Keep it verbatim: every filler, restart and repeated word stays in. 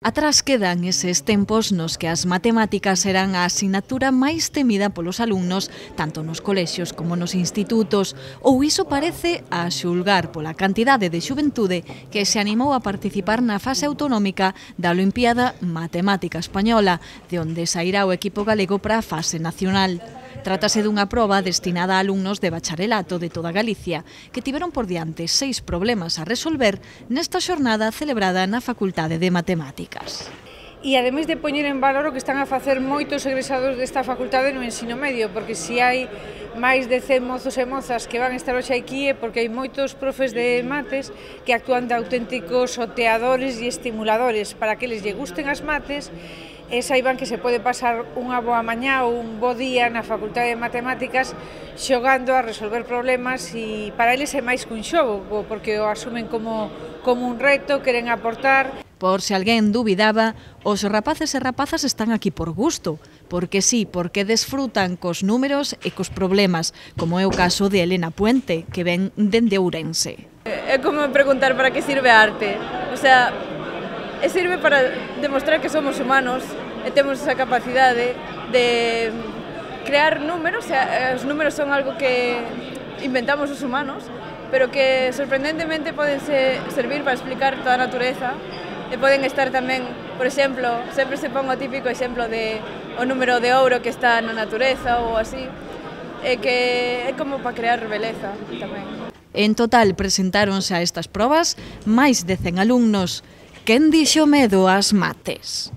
Atrás quedan eses tempos nos que as matemáticas eran a asignatura máis temida polos alumnos, tanto nos colexios como nos institutos, ou iso parece a xulgar pola cantidade de xuventude que se animou a participar na fase autonómica da Olimpiada Matemática Española, de onde sairá o equipo galego para a fase nacional. Trátase dunha proba destinada a alumnos de bacharelato de toda Galicia, que tiveron por diante seis problemas a resolver nesta xornada celebrada na Facultade de Matemáticas. E ademais de poñer en valor o que están a facer moitos egresados desta facultade no ensino medio, porque se hai máis de cen mozos e mozas que van estar hoxe aquí é porque hai moitos profes de mates que actúan de auténticos oteadores e estimuladores para que les lle gusten as mates e saiban que se pode pasar unha boa mañá ou un bo día na Facultade de Matemáticas xogando a resolver problemas e para eles é máis que un xogo, porque o asumen como, como un reto, queren aportar. Por se alguén dubidaba, os rapaces e rapazas están aquí por gusto, porque sí, porque desfrutan cos números e cos problemas, como é o caso de Elena Puente, que ven dende Ourense. É como preguntar para que sirve a arte, o sea, e sirve para demostrar que somos humanos e temos esa capacidade de crear números, o sea, os números son algo que inventamos os humanos, pero que sorprendentemente poden servir para explicar toda a natureza. E poden estar tamén, por exemplo, sempre se pon o típico exemplo de o número de ouro que está na natureza ou así, e que é como para crear beleza tamén. En total presentáronse a estas probas máis de cen alumnos. Quen dixo medo ás mates?